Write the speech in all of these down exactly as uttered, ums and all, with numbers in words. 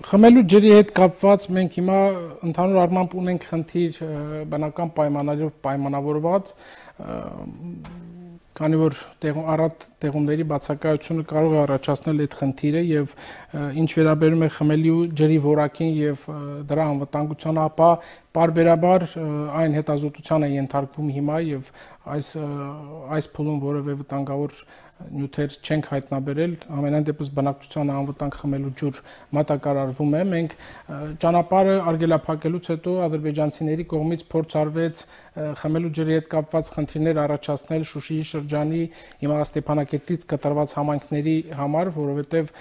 խմելու ջրի հետ կապված մենք հիմա ընդհանուր առմամբ ունենք խնդիր բնական պայմաններով պայմանավորված, քանի որ առատ տեղումների բացակայությունը կարող է առաջացնել այդ խնդիրը եւ ինչ վերաբերում է խմելու ջրի որակին եւ դրա անվտանգությանը, ապա պարբերաբար այն հետազոտության է ենթարկվում հիմա եւ այս այս փուլում որևէ վտանգավոր նյութեր չենք հայտնաբերել, ամենայն դեպս բնակչության անվտանգ խմելու ջուր մատակարարվում է։ Մենք ճանապարհը արգելափակելուց հետո ադրբեջանցիների կողմից փորձ արվեց խմելու ջրի հետ կապված խնդիրներ առաջացնել Շուշիի շրջանի հիմա Ստեփանակերտից կտրված համայնքների համար, որովհետև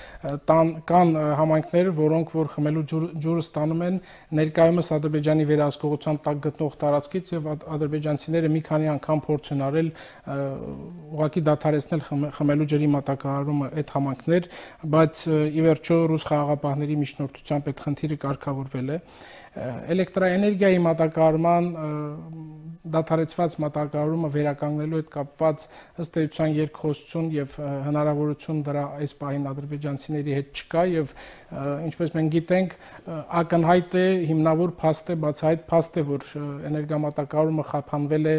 կան համայնքներ, որոնք որ խմելու ջուրը ստանում են ներկայումս Ադրբեջանի վերահսկողության տակ գտնող տարածքից եւ ադրբեջանցիները մի քանի անգամ փորձ են արել ուղղակի դադարեցնել խմելու ջրի մատակարարումը այդ համայնքներ, բայց ի վերջո ռուս խաղաղապահների միջնորդությամբ այդ խնդիրը կարգավորվել է։ Էլեկտրաէներգիայի մատակարարման դադարեցված մատակարարումը վերականգնելու հետ կապված ըստ էության երկխոսություն եւ հնարավորություն դրա այս պահին ադրբեջանցիների հետ չկա եւ ինչպես մենք գիտենք ակնհայտ է հիմնավոր փաստ է բացահայտ փաստ է որ էներգամատակարարումը խափանվել է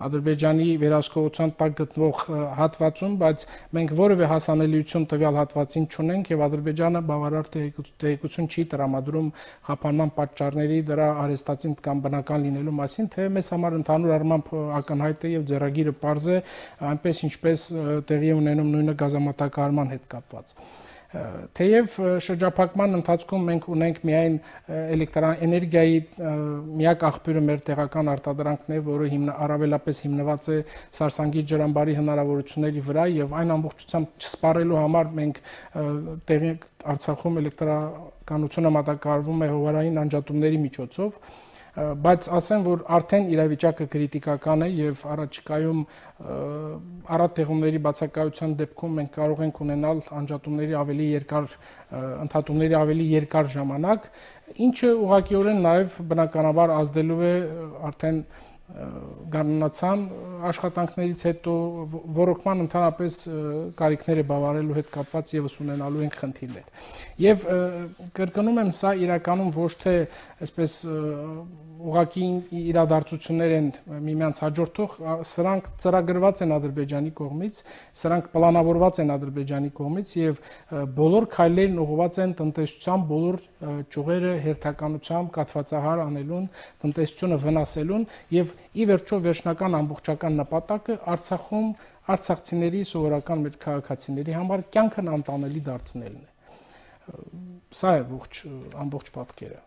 Ադրբեջանի վերահսկողության տակ գտնվող հատվածում, բայց մենք որևէ հասանելիություն տվյալ հատվածին չունենք եւ Ադրբեջանը բավարար տեղեկություն չի տրամադրում խափանման պատճառների դրա արհեստացին կամ բնական լինելու մասին, թե մեզ համար ընդհանուր առմամբ ակնհայտ է եւ ձեռագիրը պարզ է, այնպես ինչպես տեղի ունենում նույնը գազամատակարարման հետ կապված։ Թեև շրջափակման ընթացքում մենք ունենք միայն էլեկտրաէներգիայի միակ աղբյուրը մեր տեղական արտադրանքն է, որը առավելապես հիմնված է Սարսանգի ջրամբարի հնարավորությունների վրա եւ այն ամբողջությամբ չսպառելու համար մենք տեղի Արցախում էլեկտրականությունը մատակարարվում է հովարային անջատումների միջոցով, բայց ասեմ, որ արդեն իրավիճակը կրիտիկական է եւ առաջիկայում առատ տեղումների բացակայության դեպքում մենք կարող ենք ունենալ անջատումների ավելի երկար ընդհատումների ավելի երկար ժամանակ, ինչը ուղղակիորեն նաեւ բնականաբար ազդելու է արդեն գաննացան աշխատանքներից հետո ռոռոկման ընդհանրապես կարիքները բավարարելու հետ կապված եւս ունենալու են խնդիրներ։ Եվ կրկնում եմ, սա իրականում ոչ թե այսպես ուղղակի իրադարձություններ են միմյանց հաջորդող, սրանք ծրագրված են Ադրբեջանի կողմից, սրանք պլանավորված են Ադրբեջանի կողմից եւ բոլոր քայլերն ուղղված են տնտեսության բոլոր ճյուղերը հերթականությամբ կաթվածահար անելուն, տնտեսությունը վնասելուն եւ ի վերջո վերջնական ամբողջական նպատակը Արցախում արցախցիների սովորական մեր քաղաքացիների համար կյանքն անտանելի դարձնելն է։ Սա է ողջ ամբողջ պատկերը։